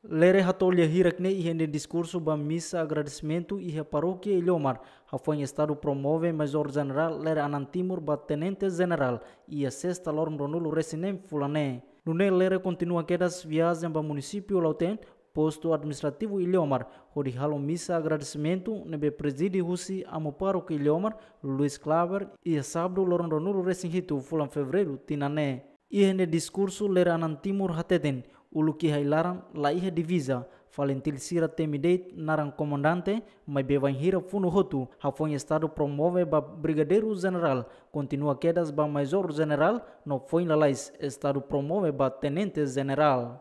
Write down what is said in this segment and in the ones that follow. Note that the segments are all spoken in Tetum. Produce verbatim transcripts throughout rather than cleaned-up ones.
Lere hato'o lia hirak ne'e iha nia diskursu ba misa agradesimentu iha Parókia Ilhomar, hafoin Estadu promove Maizór Jenerál Lere Anan Timur ba Tenente Jenerál, iha sesta loron ruanulu-resin-neen fulan ne'e. Nune'e Lere kontinua kedas viajen ba munisípiu Lautém, postu administrativu Ilhomar, hodi halo misa agradesimentu ne'ebé prezide husi Amu Pároku Ilhomar, Luis Claver, iha sábadu loron ruanulu-resin-hitu fulan Fevereiru tinan ne'e. Iha nia diskursu Lere Anan Timur hateten, uluk iha ai-laran la iha diviza, FALINTIL sira temi de'it naran komandante, maibé bainhira funu hotu, hafoin Estadu promove ba Brigadeiru Jenerál, kontinua kedas ba Maizór Jenerál, no foin lalais Estadu promove ba Tenente Jenerál.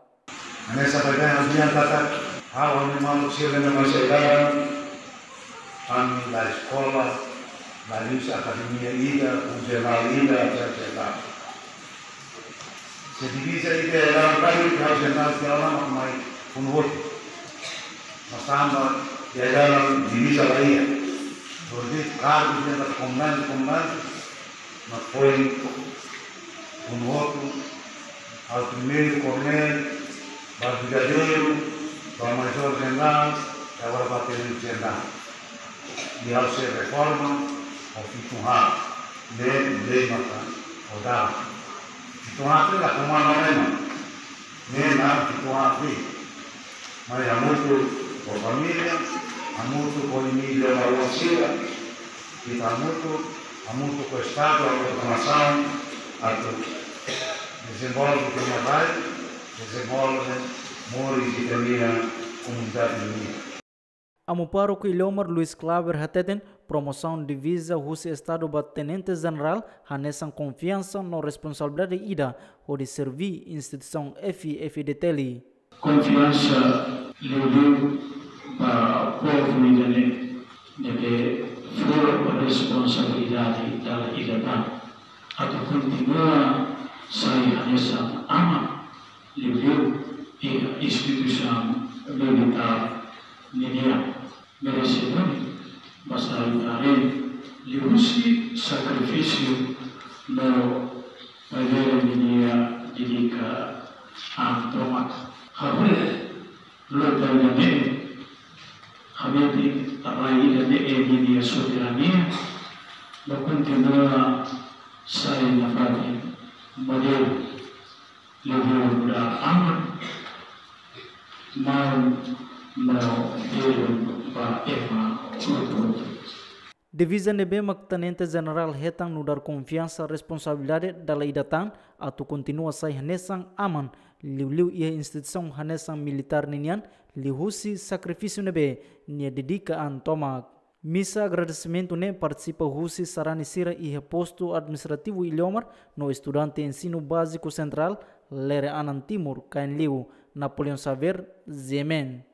Hanesan baibain ha'u dehan katak, ha'u-nia maluk sira ne'ebé mai sai-laran, ami la eskola, la liuhusi akademia ida, husi jornál ida, et cetera. Se diviza ida la iha, ha'u-nia jornál tiha ona mak mai funu hotu. Mas tanba iha ai-laran diviza la iha. Jadi, kargu ida komandante, komandante, mak foin funu hotu, ha'u primeiru koronél, ba brigadeiru, ba maizór jenerál, i agora ba tenente jenerál. I ha'u sei reforma ho fitun haat, ne'e lei maka ho dala. Fitun haat ne'e la komanda ema. Ne'e naran fitun haat ne'e. Mai hamutuk ho família, hamutuk ho imi-nia maluk sira, ita hamutuk, hamutuk ho Estadu, hamutuk ho nasaun, atu dezenvolve ita-nia rai, dezenvolve moris ita-nia komunidade nian. Amu Pároku Ilhomar Luis Claver hateten, promosaun diviza husi Estadu ba Tenente Jenerál hanesan konfiansa no responsabilidade ida hodi serví instituisaun F I F D T L. Konfiansa liuliu ba povu ida-ne'e, ne'ebé fó responsabilidade dala ida tan atu kontinua sai hanesan aman, liuliu iha instituisaun militár ninian. Merese duni ba sai haree liuhusi sakrifísiu no maibé ninia dedika an tomak. Ha'u lota ida-ne'e, ha'u lota rai ida-ne'e ninia soberania, no kontinua sai nafatin modelu liuliu ba aman, maun no belun ba ema hotu-hotu. Diviza ne'ebé mak Tenente Jenerál hetan nu'udar konfiansa responsabilidade dala ida tan atu kontinua sai hanesan aman, liuliu iha instituisaun hanesan militár ninian, liuhusi sakrifísiu ne'ebé nia dedika an tomak. Misa agradesimentu ne'e partisipa husi sarani sira iha postu administrativu Ilhomar no estudante ensinu báziku sentrál Lere Anan Timur, Kain Liu, Napoleão Xavier, G M N.